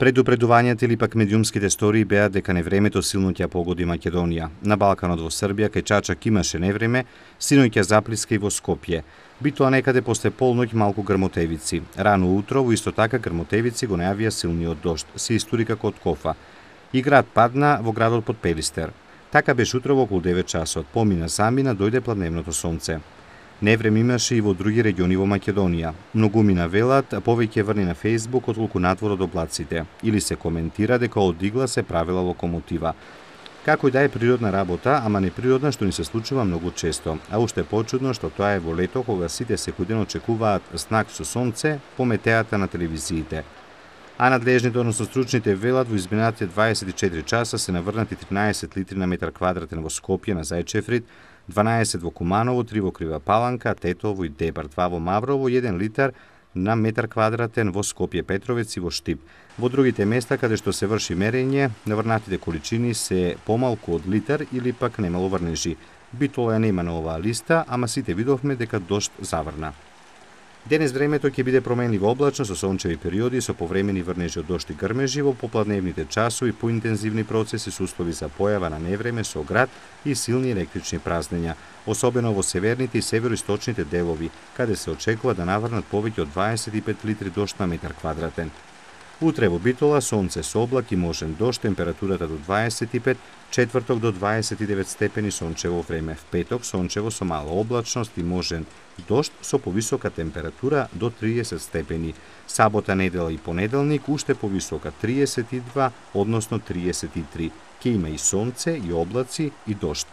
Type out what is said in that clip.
Предупредувањата или пак медиумските стории беа дека невремето силно ќе погоди Македонија. На Балканот во Србија кај Чачак имаше невреме, синоќа заплиска и во Скопје. Битоа некаде после полноќ малку грмотевици. Рано утро во исто така грмотевици го најавија силниот дожд, се историка од Кофа. И град падна во градот под Пелистер. Така беше утро во околу 9 часот. Помина замина, дојде пладневното сонце. Невреме имаше и во други региони во Македонија. Многумина велат повеќе врни на Facebook отколку надвор од облаците. Или се коментира дека од игла се правила локомотива. Како и да е природна работа, ама неприродна што ни се случува многу често. А уште почудно што тоа е во лето кога сите секој ден очекуваат знак со сонце по метеата на телевизиите. А надлежните, односно стручните велат во изминатите 24 часа се наврнати 13 литри на метар квадратен во Скопје на Зајчеврид, 12 во Куманово, 3 во Крива Паланка, Тетово и Дебар, 2 во Маврово, 1 литар на метар квадратен во Скопје Петровец и во Штип. Во другите места каде што се врши мерење, наврнатите количини се помалку од литар или пак немало врнежи. Битола нема на оваа листа, ама сите видовме дека дожд заврна. Денес времето ќе биде променливо облачно со сончеви периоди со повремени врнежи од дожд и грмежи во попладневните часови, поинтензивни процеси со услови за појава на невреме со град и силни електрични празнења, особено во северните и североисточните делови, каде се очекува да наврнат повеќе од 25 литри дожд на метар квадратен. Утре во Битола сонце со облак и можен дожд, температурата до 25, четврток до 29 степени сончево време, в петок сончево со мала облачност и можен дожд со повисока температура до 30 степени. Сабота, недела и понеделник уште повисока 32, односно 33. Ке има и сонце и облаци и дожд.